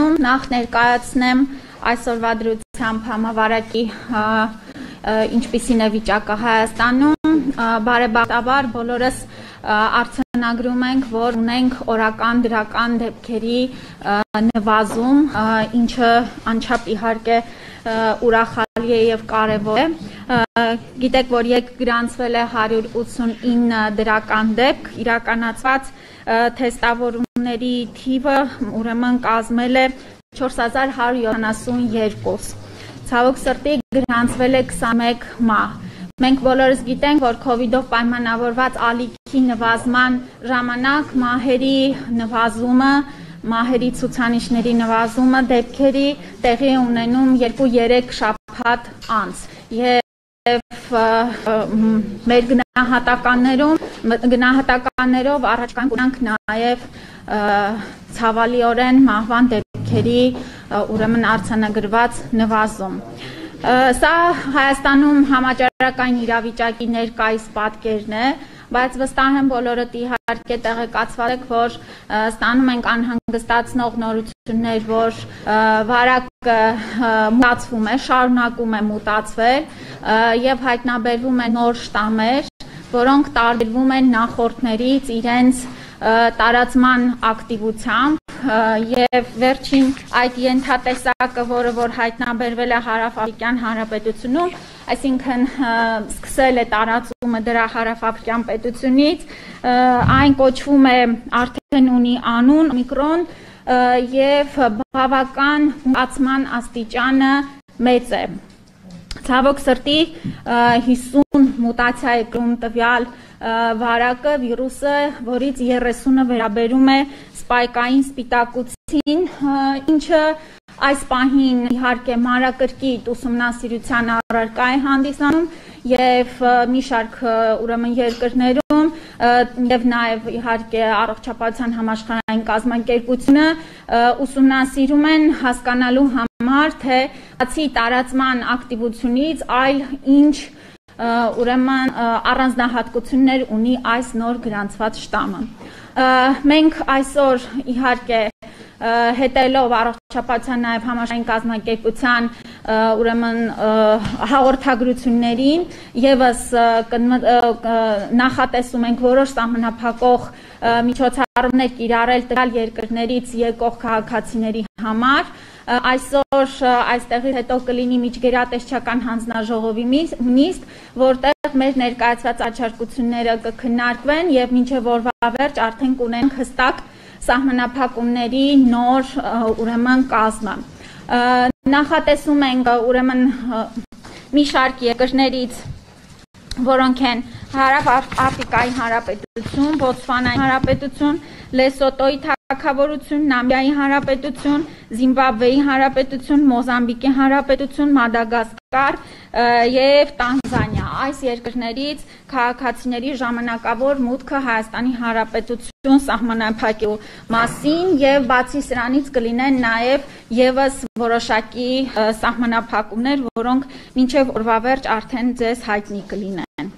Հայաստանում նախ ներկայացնեմ այսօրվա դրությամբ համավարակի ինչպիսին է վիճակը Հայաստանում, բարեբախտաբար բոլորս արձանագրում ենք, որ ունենք օրական դրական դեպքերի նվազում, ինչը անչափ իհարկե ուրախալի է եւ կարեւոր է։ Գիտեք, որ եկ գրանցվել է 189 դրական դեպք, իրականացված թեստավորումների թիվը ուրեմն կազմել է 4172։ Ցավոք սրտի գրանցվել է 21 մահ։ Մենք բոլորս գիտենք, որ COVID-ով պայմանավորված ալիքի նվազման ժամանակ մահերի նվազումը, մահերի ցուցանիշների նվազումը դեպքերի տեղի ունենում 2-3 շաբաթ անց։ Եվ մեր գնահատականներով առաջ կանք նաև ցավալիորեն մահվան դեպքերի ուրեմն արձանագրված նվազում։ Սա Հայաստանում համաճարակային իրավիճակի ներկայիս պատկերն է, բայց վստահ եմ բոլորդ իհարկե տեղեկացված եք, որ ստանում ենք անհանգստացնող նորություններ, որ վարակը մտածվում է, շարունակում է մտածվել եւ հայտնաբերվում են նոր շտամեր, որոնք տարբերվում են նախորդներից իրենց տարածման ակտիվությամբ եւ վերջին այդ ենթատեսակը, որը որ հայտնաբերվել է Հարավաֆրիկյան Հանրապետությունում, այսինքն սկսել է տարածումը դրա Հարավաֆրիկյան պետությունից, այն կոչվում է արդեն ունի անուն Օմիկրոն եւ բավական մտածման աստիճանը մեծ է։ Ցավոք սրտի 50 մուտացիա է կրում տվյալ վարակը, վիրուսը, որից 30-ը վերաբերում է սպայկային սպիտակուցին, ինչը այս պահին իհարկե մանրակրկիտ ուսումնասիրության առարկա է հանդիսանում եւ մի շարք ուրեմն երկրներում եւ նաեւ իհարկե առողջապահության համաշխարհային կազմակերպությունը ուսումնասիրում են հասկանալու համար, թե բացի տարածման ակտիվությունից այլ ինչ ուրեմն առանձնահատկություններ ունի այս նոր գրանցված շտամը։ Մենք այսօր իհարկե հետելով առողջապահության նաև համաշխարհային կազմակերպության ուրեմն հաղորդագրություններին եւս նախատեսում ենք որոշ սահմանափակող միջոցառումներ կիրառել տվյալ երկրներից եկող քաղաքացիների համար։ Այսօր այստեղից հետո կլինի միջգերատեսչական հանձնաժողովի նիստ, որտեղ մեր ներկայացված առաջարկությունները կքննարկվեն եւ մինչեւ օրվա վերջ արդեն կունենք հստակ սահմանափակումների նոր ուրեմն կազմը։ Նախատեսում ենք ուրեմն մի շարք երկրներից, որոնք են Հարավաֆրիկայի Հանրապետություն, Բոտսվանայի Հանրապետություն, Լեսոտոյի Թագավորություն, Նամիբիայի Հանրապետություն, Զիմբաբվեի Հանրապետություն, Մոզամբիկի Հանրապետություն, Մադագասկար եւ Տանզանիա։ Այս երկրներից քաղաքացիների ժամանակավոր մուտքը Հայաստանի Հանրապետություն սահմանափակելու մասին եւ բացի սրանից կլինեն նաեւ եւս որոշակի սահմանափակումներ, որոնք մինչեւ օրվա վերջ արդեն ձեզ հայտնի կլինեն։